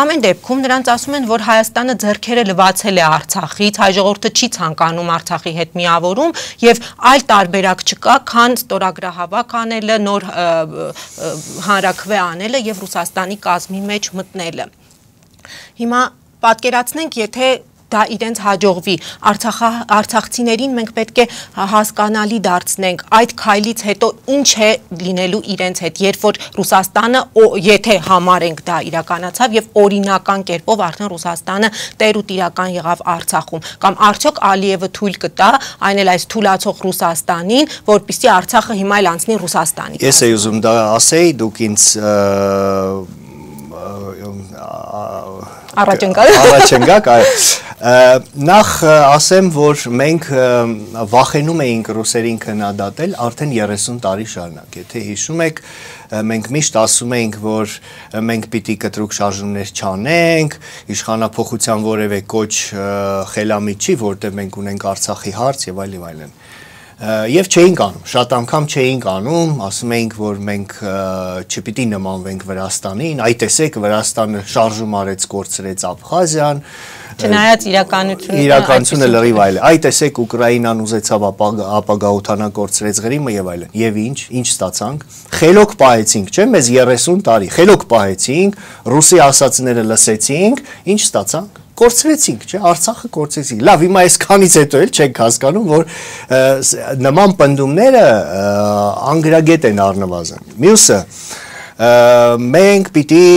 Ամեն դեպքում նրանց ասում են, որ Հայաստանը ձեռքերը լվացել է Արցախից, հայ ժողովուրդը չի ցանկանում Արցախի հետ միավորում եւ այլ տարբերակ չկա, քան ստորագրահավաք անելը, նոր հանրաքվե անելը եւ Ռուսաստանի կազմի մեջ մտնելը։ Հիմա պատկերացնենք, եթե դա իրենց հաջողվի, արցախցիներին մենք պետք է հասկանալի դարձնենք այդ քայլից հետո ինչ է լինելու իրենց հետ, երբ որ Ռուսաստանը, եթե համարենք դա իրականացավ եւ օրինական կերպով արդեն Ռուսաստանը տեր ու տիրական եղավ Արցախում, կամ արդյոք Ալիևը թույլ կտա այն էլ այս թույլացող Ռուսաստանին, որպեսզի Արցախը հիմա էլ անցնի Ռուսաստանի։ Ես էի ուզում դա ասեի, դուք ինձ Առաջ ընկալ։ Առաջ ընկակ, այո։ Նախ ասեմ, որ մենք վախենում էինք ռուսերին քննադատել արդեն երեսուն տարի շարունակ։ Եթե հիշում եք, մենք միշտ ասում էինք, որ մենք պիտի կտրուկ շարժումներ չանենք, իշխանափոխության որևէ կոչ խելամիտ չի, որտեղ մենք ունենք Արցախի հարց եւ այլ եւ այլն։ Եվ չէինք անում, շատ անգամ չէինք անում, ասում էինք, որ մենք չպիտի նմանվենք Վրաստանին, այ տեսեք Վրաստանը շարժում արեց, կորցրեց Աբխազիան, չնայած իրականությունը իրականությունը լրիվ այլ է, այ տեսեք Ուկրաինան ուզեցավ ապագա օդանագործրեց Ղրիմը եւ այլն, եւ ինչ, ինչ ստացանք, խելոք պահեցինք, չէ՞, մեզ երեսուն տարի, խելոք պահեցինք, ռուսի ասածները լսեցինք, ինչ ստացանք։ Կորցրեցինք, չէ, Արցախը կորցրեցինք։ Լավ, հիմա այսքանից հետո էլ չենք հասկանում, որ նման պնդումները անգրագետ են առնվազն։ Մյուսը, մենք պիտի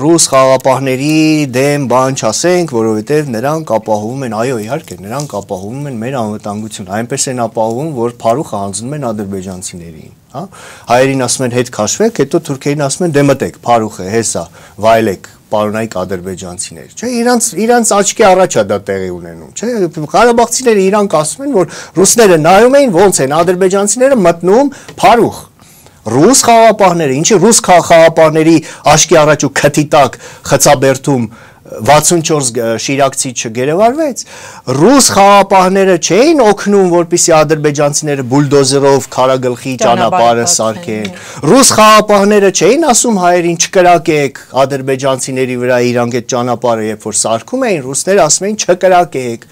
ռուս խաղապահների դեմ բան չասենք, որովհետև նրանք ապահովում են, այո, իհարկե, նրանք ապահովում են մեր անվտանգությունը, այնպես են ապահովում, որ փարուխը հանձնում են ադրբեջանցիներին, հա։ Հայերին ասում են հետ քաշվեք, հետո թուրքերին ասում են դե մտեք, փարուխը, հեսա, վայելեք պարոնայք ադրբեջանցիներ, չէ, իրանց իրանց աչքի առաջ է դա տեղի ունենում, չէ, ղարաբաղցիները իրանք ասում են, որ ռուսները նայում էին, ոնց են ադրբեջանցիները մտնում փարուխ, ռուս խաղապահները, ինչի ռուս խաղապահների աչքի առաջ ու քթի տակ խցաբերդում վաթսունչորս շիրակցի չգերեվարվեց, ռուս խաղապահները չէին օգնում, որպեսզի ադրբեջանցիները բուլդոզերով քարագլխի ճանապարհը սարքեն, ռուս խաղապահները չէին ասում հայերին չկրակեք ադրբեջանցիների վրա իրանք այդ ճանապարհը երբ որ սարքում էին, ռուսները ասում էին չկրակեք,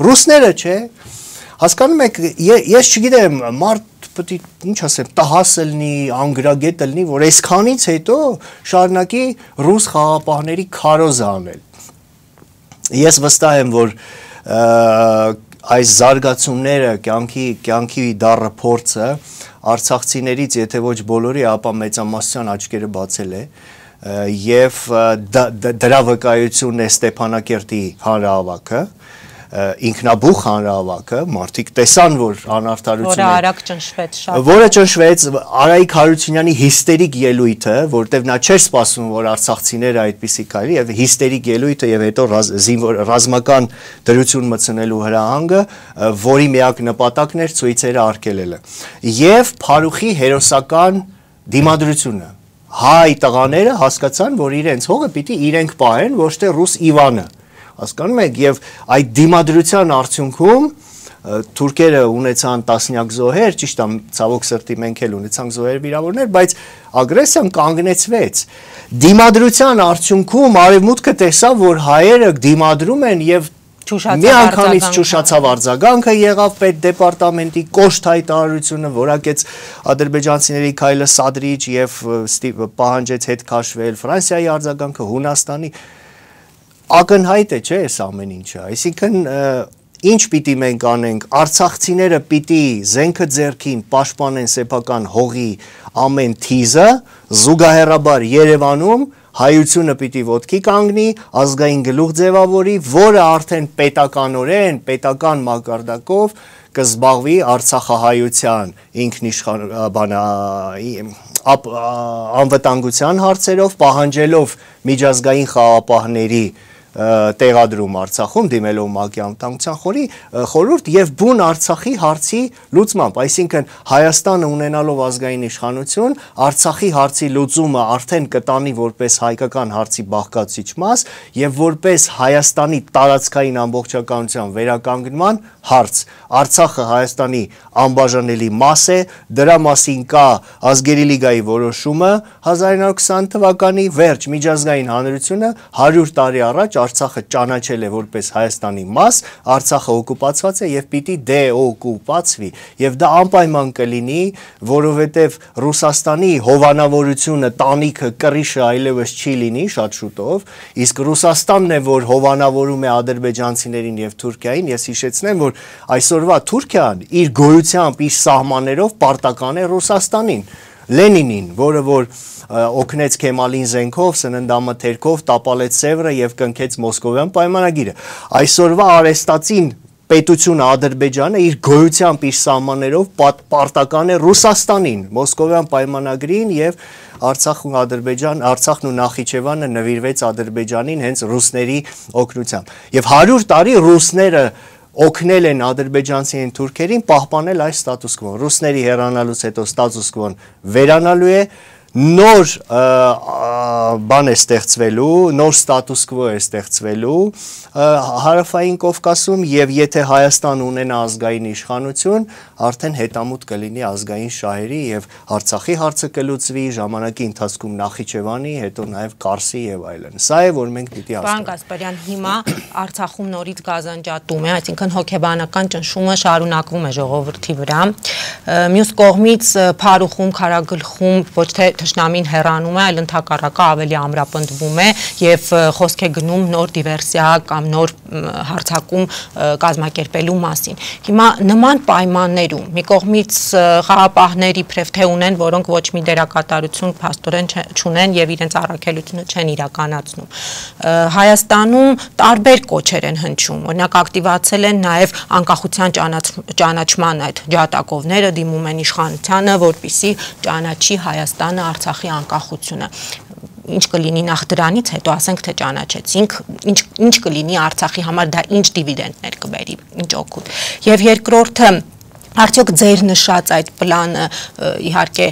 ռուսները չէ, հասկանում եք, ես չգիտեմ, մարդ պետք է ինչ ասեմ, տահաս լինի, անգրագետ լինի, որ այսքանից հետո շարունակի ռուս խաղապահների քարոզը անել։ Ես վստահ եմ, որ այս զարգացումները, կյանքի, կյանքի դառը փորձը արցախցիներից, եթե ոչ բոլորի, ապա մեծամասնության աչքերը բացել է, եւ դրա վկայությունն է Ստեփանակերտի հանրահավաքը, ինքնաբուխ հանրահավաքը, մարդիկ տեսան, որ անարդարություն է, որը արագ ճնշվեց շատ, որը ճնշվեց, Արայիկ Հարությունյանի հիստերիկ ելույթը, որտեղ նա չէր սպասում, որ արցախցիները այդպիսի քայլի, եւ հիստերիկ ելույթը եւ հետո ռազմական դրություն մտցնելու հրահանգը, որի միակ նպատակն էր ցույցերը արգելելը, եւ Փարուխի հերոսական դիմադրությունը։ Հայ տղաները հասկացան, որ իրենց հողը պիտի իրենք պահեն, ոչ թե ռուս Իվանը։ Հասկանում եք, եւ այդ դիմադրության արդյունքում թուրքերը ունեցան տասնյակ զոհեր, ճիշտ է, ցավոք սրտի մենք էլ ունեցանք զոհեր վիրավորներ, բայց ագրեսիան կանգնեցվեց։ Դիմադրության արդյունքում արևմուտքը տեսավ, որ հայերը դիմադրում են եւ միանգամից ճուշացավ արձագանքը, եղավ պետդեպարտամենտի կոշտ հայտարարությունը, որակեց ադրբեջանցիների քայլը սադրիչ եւ պահանջեց հետ քաշվել, Ֆրանսիայի արձագանքը, Հունաստանի ակնհայտ է, չէ, այս ամեն ինչը, այսինքն ինչ պիտի մենք անենք, արցախցիները պիտի զենքը ձեռքին պաշտպանեն սեփական հողի ամեն թիզը, զուգահեռաբար Երևանում հայությունը պիտի ոտքի կանգնի, ազգային գլուխ ձևավորի, որը արդեն պետականորեն, պետական մակարդակով կզբաղվի արցախահայության ինքնիշխան անվտանգության հարցերով, պահանջելով միջազգային խաղապահների տեղադրում Արցախում, դիմելով ՄԱԿ-ի անվտանգության խորհուրդ եւ բուն Արցախի հարցի լուծմամբ, այսինքն Հայաստանը ունենալով ազգային իշխանություն, Արցախի հարցի լուծումը արդեն կտանի որպես հայկական հարցի բաղկացուցիչ մաս եւ որպես Հայաստանի տարածքային ամբողջականության վերականգնման հարց։ Արցախը Հայաստանի անբաժանելի մաս է, դրա մասին կա ազգերի լիգայի որոշումը հազար իննսուն քսան թվականի վերջ, միջազգային հանրությունը հարյուր տարի առաջ Արցախը ճանաչել է որպես Հայաստանի մաս, Արցախը օկուպացված է եւ պիտի դեօկուպացվի եւ դա անպայման կլինի, որովհետեւ Ռուսաստանի հովանավորությունը, տանիքը, կռիշը այլևս չի լինի շատ շուտով, իսկ Ռուսաստանն է, որ հովանավորում է ադրբեջանցիներին եւ Թուրքիային, ես հիշեցնեմ, որ այսօրվա Թուրքիան իր գոյությամբ, իր սահմաններով պարտական է Ռուսաստանին, Լենինին, որը որ օգնեց Քեմալին զենքով, սննդամթերքով, տապալեց Սևրը եւ կնքեց Մոսկովյան պայմանագիրը։ Այսօրվա արեստացին պետությունը Ադրբեջանը իր գոյությամբ, իր սահմաններով պարտական է Ռուսաստանին, Մոսկովյան պայմանագրին եւ Արցախն ու Ադրբեջան, Արցախն ու Նախիջևանը նվիրվեց Ադրբեջանին հենց ռուսների օգնությամբ։ Եվ հարյուր տարի ռուսները օգնել են ադրբեջանցիներին թուրքերին պահպանել այս ստատուս կվոն։ Ռուսների հեռանալուց հետո ստատուս կվոն վերանալու է, նոր բան է ստեղծվելու, նոր ստատուս կվո է ստեղծվելու Հարավային Կովկասում եւ եթե Հայաստան ունենա ազգային իշխանություն, արդեն հետամուտ կլինի ազգային շահերի եւ Արցախի հարցը կլուծվի, ժամանակի ընթացքում Նախիջևանի, հետո նաեւ Կարսի եւ այլն։ Սա է, որ մենք պիտի հասկանանք։ Պարոն Գասպարյան, հիմա Արցախում նորից գազանջատում է, այսինքն հոգեբանական ճնշումը շարունակվում է ժողովրդի վրա։ Մյուս կողմից Փարուխում, Քարագլխում ոչ թե թշնամին հեռանում է, այլ ընդհակառակը ավելի ամրապնդվում է եւ խոսք է գնում նոր դիվերսիա կամ նոր հարձակում կազմակերպելու մասին։ Հիմա նման պայմաններում մի կողմից խաղապահների իբրև թե ունեն, որոնք ոչ մի դերակատարություն փաստորեն չունեն եւ իրենց առաքելությունը չեն իրականացնում։ Հայաստանում տարբեր կոչեր են հնչում, օրինակ ակտիվացել են նաեւ անկախության ճանաչման այդ ջատագովները, դիմում են իշխանությանը, որպիսի ճանաչի Հայաստանը Արցախի անկախությունը։ Ինչ կլինի նախ դրանից հետո ասենք թե ճանաչեցինք, ինչ ինչ կլինի Արցախի համար, դա ինչ դիվիդենդներ կբերի, ինչ օգուտ։ Եվ երկրորդը արդյոք ձեր նշած այդ պլանը, իհարկե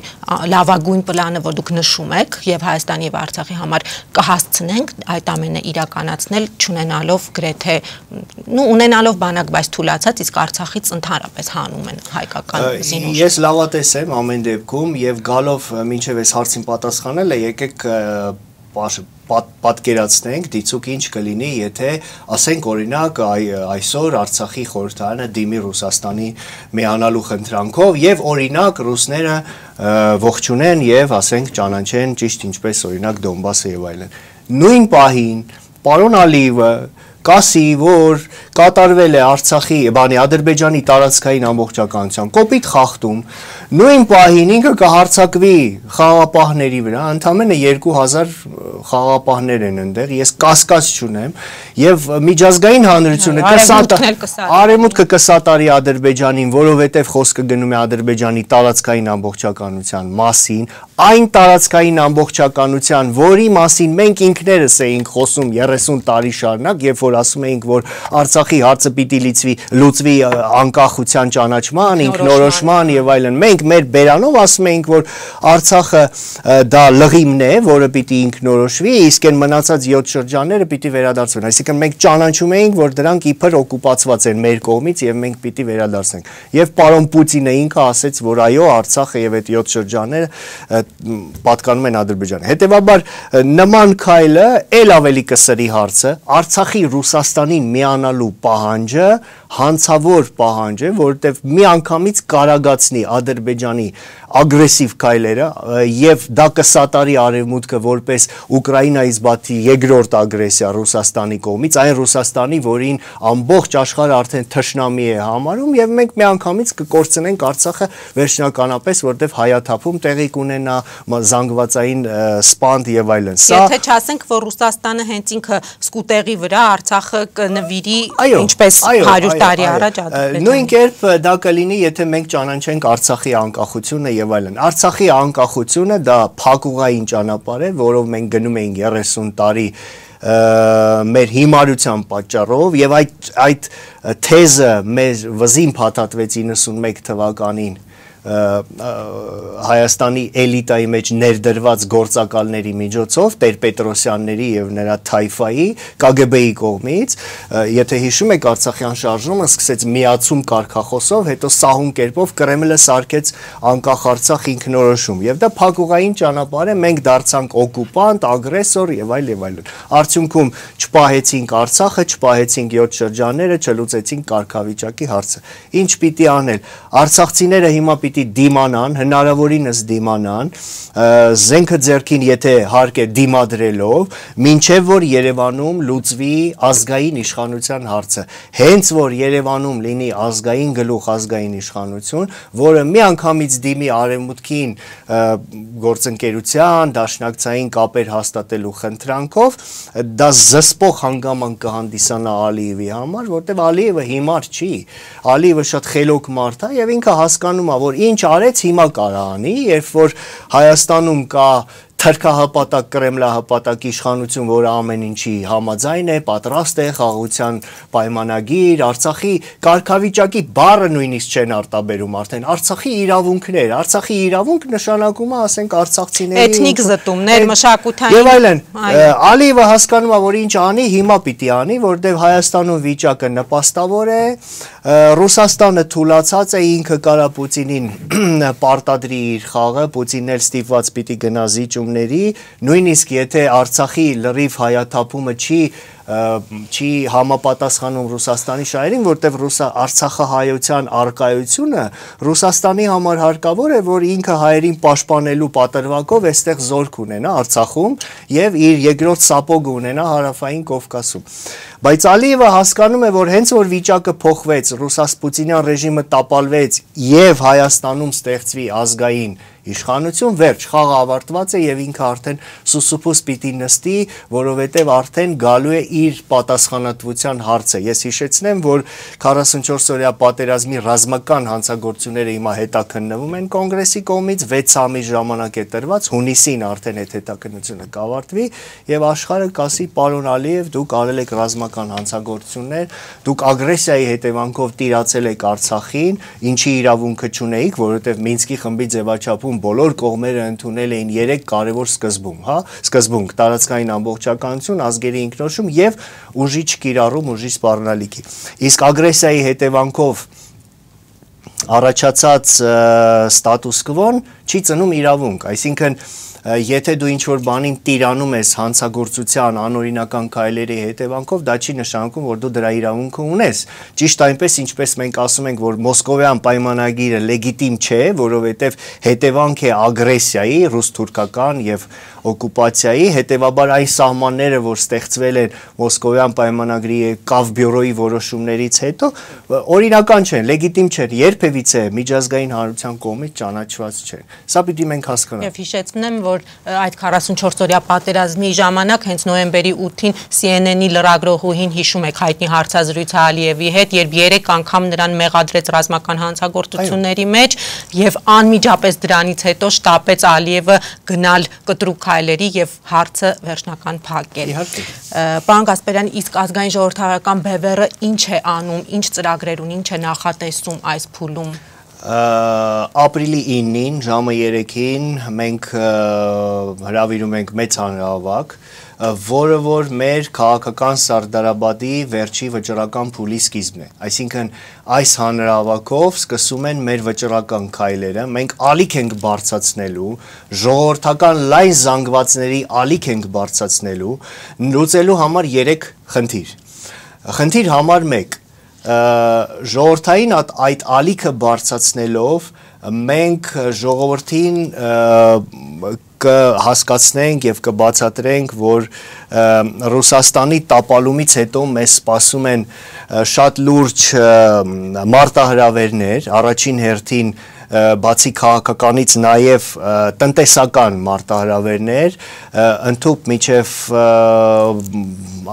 լավագույն պլանը, որ դուք նշում եք եւ Հայաստանի եւ Արցախի համար կհասցնենք այդ ամենը իրականացնել, չունենալով գրեթե, նու ունենալով բանակ, բայց թուլացած, իսկ Արցախից ընդհանրապես հանում են հայկական զինուժ։ Ես լավատես եմ ամեն դեպքում եւ գալով մինչեւ այս հարցին պատասխանելը, եկեք պատկերացնենք դիցուկ ինչ կլինի, եթե ասենք օրինակ այսօր Արցախի խորհրդարանը դիմի Ռուսաստանի միանալու խնդրանքով եւ օրինակ ռուսները ողջունեն եւ ասենք ճանաչեն ճիշտ ինչպես օրինակ Դոնբասը եւ այլն։ Նույն պահին պարոն Ալիևը կասի, որ կատարվել է Արցախի, բանի Ադրբեջանի տարածքային ամբողջականության կոպիտ խախտում, նույն պահին ինքը կհարձակվի խաղաղապահների վրա, ընդամենը երկու հազար խաղաղապահներ են այնտեղ, ես կասկած չունեմ, եւ միջազգային հանրությունը արևմուտքը կսատարի Ադրբեջանին, որովհետեւ խոսքը գնում է Ադրբեջանի տարածքային ամբողջականության մասին, այն տարածքային ամբողջականության, որի մասին մենք ինքներս էինք խոսում երեսուն տարի շարունակ, երբ որ ասում էինք, որ Արցախի հարցը պիտի լուծվի, լուծվի անկախության ճանաչման, ինքնորոշման եւ այլն։ Մենք մեր բերանով ասում էինք, որ Արցախը դա լղիմն է, որը պիտի ինքնորոշվի, իսկ այն մնացած յոթ շրջանները պիտի վերադարձվեն։ Այսինքն մենք ճանաչում էինք, որ դրանք իբր օկուպացված են մեր կողմից եւ մենք պիտի վերադարձնենք։ Եվ պարոն Պուտինը ինքը ասեց, որ այո, Արցախը եւ այդ յոթ շրջանները պատկանում են Ադրբեջանին։ Հետևաբար նման քայլը ել ավելի կսրի հարցը, Արցախի Ռուսաստանին միանալու պահանջը հանցավոր պահանջ է, որովհետև միանգամից կարագացնի Ադրբեջանի ագրեսիվ քայլերը եւ դա կսատարի արևմուտքը որպես Ուկրաինայից բացի երկրորդ ագրեսիա Ռուսաստանի կողմից, այն Ռուսաստանի, որին ամբողջ աշխարհը արդեն թշնամի է համարում եւ մենք միանգամից կկորցնենք Արցախը վերջնականապես, որովհետև հայաթափում տեղի կունենա, զանգվածային սպանդ եւ այլն։ Սա եթե չասենք, որ Ռուսաստանը հենց ինքը սկուտեղի վրա Արցախը կնվիրի ինչպես հարյուր տարի առաջ Ադրբեջանը։ Նույն կերպ դա կլինի, եթե մենք ճանաչենք Արցախի անկախությունը եւ այլն։ Արցախի անկախությունը դա փակուղային ճանապարհ է, որով մենք գնում էինք երեսուն տարի մեր հիմարության պատճառով եւ այդ այդ թեզը մեր վզին փաթաթվեց իննսունմեկ թվականին Հայաստանի էլիտայի մեջ ներդրված գործակալների միջոցով, Տեր-Պետրոսյանների եւ նրա թայֆայի, Կ Գ Բ-ի կողմից, եթե հիշում եք Արցախյան շարժումը սկսեց միացում կարգախոսով, հետո սահուն կերպով Կրեմլը սարքեց անկախ Արցախ ինքնորոշում եւ դա փակուղային ճանապարհ է, մենք դարձանք օկուպանտ, ագրեսոր եւ այլ եւ այլն։ Արդյունքում չպահեցինք Արցախը, չպահեցինք յոթ շրջանները, չլուծեցինք կարգավիճակի հարցը։ Ինչ պիտի անել։ Արցախցիները հիմա պիտի դիմանան, հնարավորինս դիմանան, զենքը ձեռքին եթե հարկ է դիմադրելով, մինչև որ Երևանում լուծվի ազգային իշխանության հարցը։ Հենց որ Երևանում լինի ազգային գլուխ, ազգային իշխանություն, որը միանգամից դիմի արևմուտքին գործընկերության, դաշնակցային կապեր հաստատելու խնդրանքով, դա զսպող հանգամանք կհանդիսանա Ալիևի համար, որտեղ Ալիևը հիմար չի, Ալիևը շատ խելոք մարդ է եւ ինքը հասկանում է, որ ինչ արեց հիմա կարա անի, երբ որ Հայաստանում կա թրքահպատակ, կրեմլահպատակ իշխանություն, որը ամեն ինչի համաձայն է, պատրաստ է, խաղաղության պայմանագիր, Արցախի կարգավիճակի բառը նույնիսկ չեն արտաբերում արդեն, Արցախի իրավունքներ, Արցախի իրավունք նշանակում է, ասենք, արցախցիների էթնիկ զտումներ, մշակութային եւ այլն։ Ալիևը հասկանում է, որ ինչ անի, հիմա պիտի անի, որտեղ Հայաստանում վիճակը նպաստավոր է, Ռուսաստանը թուլացած է, ինքը կարա Պուտինին պարտադրի իր խաղը, Պուտինն էլ ստիպված պիտի գնա զիջումների, նույնիսկ եթե Արցախի լրիվ հայաթափումը չի չի համապատասխանում Ռուսաստանի շահերին, որտեղ Ռուսա Արցախահայության արկայությունը Ռուսաստանի համար հարկավոր է, որ ինքը հայերին պաշտպանելու պատրվակով այստեղ զորք ունենա Արցախում եւ իր երկրորդ սապոգը ունենա Հարավային Կովկասում։ Բայց Ալիևը հասկանում է, որ հենց որ վիճակը փոխվեց, Ռուսաս-Պուտինյան ռեժիմը տապալվեց եւ Հայաստանում ստեղծվի ազգային իշխանություն, վերջ, խաղը ավարտված է եւ ինքը արդեն սուսուփուս պիտի նստի, որովհետեւ արդեն գալու է իր պատասխանատվության հարցը։ Ես հիշեցնեմ, որ քառասունչորս օրյա պատերազմի ռազմական հանցագործությունները հիմա հետաքննվում են կոնգրեսի կողմից, վեց ամիս ժամանակ է տրված, հունիսին արդեն այդ հետաքննությունը կավարտվի եւ աշխարհը կասի պարոն Ալիև, դուք արել եք ռազմական հանցագործություններ, դուք ագրեսիայի հետևանքով տիրացել եք Արցախին, ինչի իրավունքը չունեիք, որովհետեւ Մինսկի խմբի ձևաչափում բոլոր կողմերը ընդունել էին երեք կարևոր սկզբում, հա, սկզբունք, տարածքային ամբողջականություն, ազգերի ինքնորոշում եւ ուժի չկիրառում, ուժի սպառնալիքի։ Իսկ ագրեսիայի հետևանքով առաջացած ստատուս կվոն չի ծնում իրավունք, այսինքն եթե դու ինչ-որ բանին տիրանում ես հանցագործության անօրինական քայլերի հետևանքով, դա չի նշանակում, որ դու դրա իրավունքը ունես։ Ճիշտ այնպես, ինչպես մենք ասում ենք, որ Մոսկովյան պայմանագիրը լեգիտիմ չէ, որովհետև հետևանք է ագրեսիայի, ռուս-թուրքական եւ օկուպացիայի, հետևաբար այն սահմանները, որ ստեղծվել են Մոսկովյան պայմանագրի Կավ բյուրոյի որոշումներից հետո, օրինական չեն, լեգիտիմ չեն, երբևիցե միջազգային հանրության կողմից ճանաչված չեն։ Սա պիտի մենք հասկանանք։ Եվ հիշեցնեմ, որ այդ քառասունչորս-օրյա պատերազմի ժամանակ հենց նոյեմբերի ութին C N N-ի լրագրողուհին հիշում եք հայտնի հարցազրույցը Ալիևի հետ, երբ երեք անգամ նրան մեղադրեց ռազմական հանցագործությունների մեջ եւ անմիջապես դրանից հետո շտապեց Ալիևը գնալ կտրուկ քայլերի եւ հարցը վերջնական փակել։ Պարոն Գասպարյան, իսկ ազգային ժողովրդավարական բևեռը ինչ է անում, ինչ ծրագրեր ունի, ինչ է նախատեսում այս փուլում։ Ապրիլի իննին ժամը երեքին մենք հրավիրում ենք մեծ հանրահավաք, որը որ մեր քաղաքական Սարդարաբադի վերջի վճռական փուլի սկիզբն է։ Այսինքն այս հանրահավաքով սկսում են մեր վճռական քայլերը, մենք ալիք ենք բարձրացնելու, ժողովրդական լայն զանգվածների ալիք ենք բարձրացնելու, լուծելու համար երեք խնդիր։ Խնդիր համար մեկ, ժողովրդային այդ ալիքը բարձրացնելով մենք ժողովրդին կհասկացնենք եւ կբացատրենք, որ Ռուսաստանի տապալումից հետո մեզ սպասում են շատ լուրջ մարտահրավերներ, առաջին հերթին բացի քաղաքականից նաև տնտեսական մարտահրավերներ, ընդհուպ միջև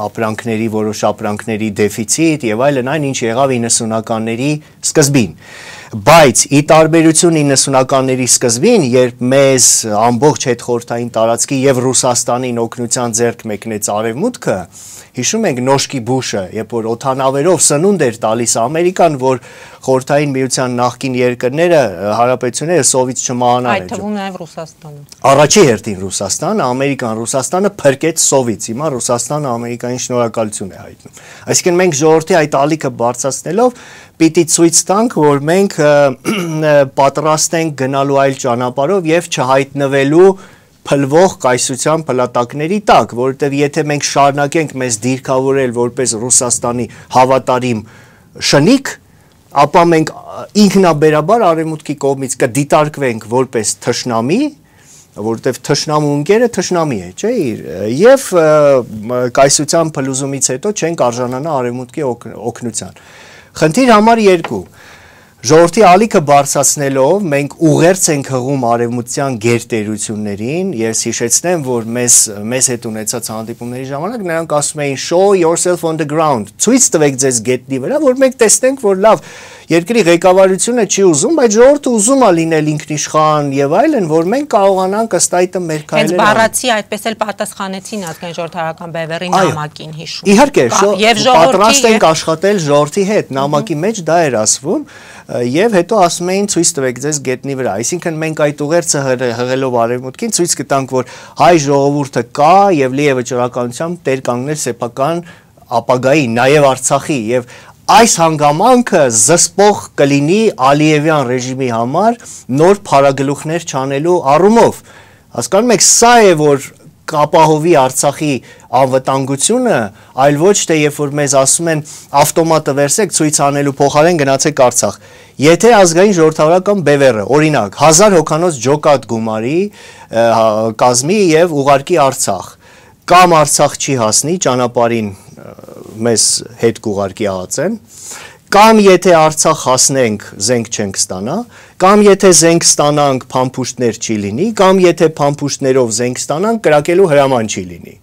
ապրանքների, որոշ ապրանքների դեֆիցիտ եւ այլն, այն ինչ եղավ իննսունականների սկզբին։ Բայց ի տարբերություն իննսունականների սկզբին, երբ մեզ ամբողջ հետխորհրդային տարածքի եւ Ռուսաստանին օգնության ձեռք մեկնեց Արևմուտքը, հիշում ենք Նոշկի Բուշը, երբ որ օդանավերով սնունդ էր տալիս Ամերիկան, որ խորհրդային միության նախկին երկրները, հարաբերությունները սովից չմահանան։ Այդ թվում նաև Ռուսաստանը։ Առաջի հերթին Ռուսաստանը, Ամերիկան, Ռուսաստանը փրկեց սովից, հիմա Ռուսաստանը Ամերիկային շնորհակալություն է հայտնում։ Այսինքն մենք ժողովրդի այդ ալիքը բարձրացնելով պիտի ցույց տանք, որ մենք պատրաստ ենք գնալու այլ ճանապարհով եւ չհայտնվելու փլվող կայսրության փլատակների տակ, որովհետև եթե մենք շարունակենք մեզ դիրքավորել որպես Ռուսաստանի հավատարիմ շնիկ, ապա մենք ինքնաբերաբար արևմուտքի կողմից կդիտարկվենք որպես թշնամի, որովհետև թշնամու ընկերը թշնամի է, չէ՞, եւ կայսրության փլուզումից հետո չենք արժանանա արևմուտքի օգնության։ Խնդիր համար երկու, ժողովրդի ալիքը բարձրացնելով մենք ուղերձ ենք հղում արևմտյան գերտերություններին, ես հիշեցնեմ, որ մեզ մեզ հետ ունեցած հանդիպումների ժամանակ նրանք ասում էին show yourself on the ground, ցույց տվեք ձեզ գետնի վրա, որ մենք տեսնենք, որ լավ, երկրի ղեկավարությունը չի ուզում, բայց ժողովուրդը ուզում է լինել ինքնիշխան եւ այլն, որ մենք կարողանանք ըստ այդը մեր քայլերը։ Հենց բառացի այդպես էլ պատասխանեցին ազգային ժողովրդավարական բևեռի նամակին, հիշում։ Իհարկե, պատրաստ ենք աշխատել ժողովրդի հետ, նամակի մեջ դա էր ասվում, եւ հետո ասում էին ցույց տվեք ձեզ գետնի վրա։ Այսինքն մենք այդ ուղերձը հղելով արևմուտքին ցույց կտանք, որ հայ ժողովուրդը կա եւ լի է վճռականությամբ տեր կանգնել սեփական ապագայի, նաեւ Արցախի եւ այս հանգամանքը զսպող կլինի Ալիևյան ռեժիմի համար նոր փարագլուխներ չանելու առումով։ Հասկանում եք, սա է որ կապահովի Արցախի անվտանգությունը, այլ ոչ թե երբ որ մեզ ասում են ավտոմատը վերսեք ցույց անելու փոխարեն գնացեք Արցախ։ Եթե ազգային ժողովրդավարական բևեռը, օրինակ, հազար հոգանոց ջոկատ գումարի կազմի եւ ուղարկի Արցախ, կամ Արցախ չի հասնի ճանապարհին մեզ հետ կուղարկի ահացեն, կամ եթե Արցախ հասնենք զենք չենք ստանա, կամ եթե զենք ստանանք փամփուշտներ չի լինի, կամ եթե փամփուշտներով զենք ստանանք կրակելու հրաման չի լինի։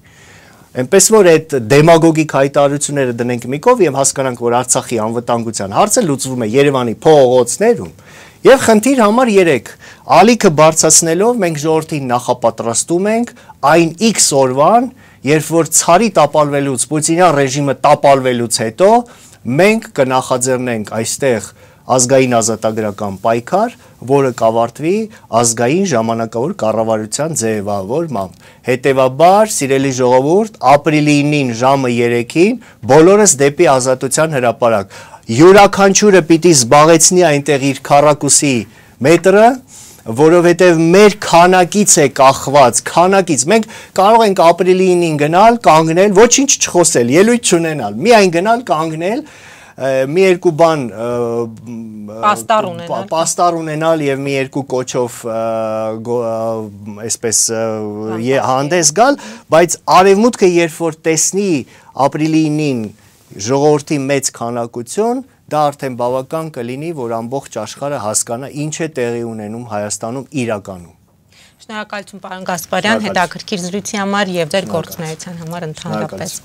Այնպես որ այդ դեմագոգիկ հայտարարությունները դնենք մի կողմ եւ հասկանանք, որ Արցախի անվտանգության հարցը լուծվում է Երևանի փողոցներում։ Եվ խնդիր համար երեք, ալիքը բարձրացնելով մենք ժողովրդին նախապատրաստում ենք այն X օրվան, երբ որ ցարի տապալվելուց, Պուտինյան ռեժիմը տապալվելուց հետո մենք կնախաձեռնենք այստեղ ազգային ազատագրական պայքար, որը կավարտվի ազգային ժամանակավոր կառավարության ձևավորմամբ։ Հետևաբար, սիրելի ժողովուրդ, ապրիլի ինին ժամը երեքին բոլորս դեպի ազատության հրապարակ։ Յուրաքանչյուրը պիտի զբաղեցնի այնտեղ իր քառակուսի մետրը, որովհետև մեր քանակից է կախված, քանակից, մենք կարող ենք ապրիլի ինին գնալ, կանգնել, ոչինչ չխոսել, ելույթ չունենալ, միայն գնալ, կանգնել մի երկու բան պաստառ ունենալ եւ մի երկու կոչով այսպես հանդես գալ, բայց արևմուտքը երբ որ տեսնի ապրիլի ինին ժողովրդի մեծ քանակություն, դա արդեն բավական կլինի, որ ամբողջ աշխարհը հասկանա ինչ է տեղի ունենում Հայաստանում իրականում։ Շնորհակալություն պարոն Գասպարյան, հետաքրքիր զրույցի համար եւ ձեր գործունեության համար ընդհանրապես։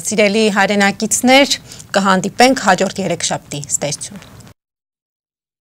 Սիրելի հայրենակիցներ, կհանդիպենք հաջորդ երեքշաբթի, ստեսություն։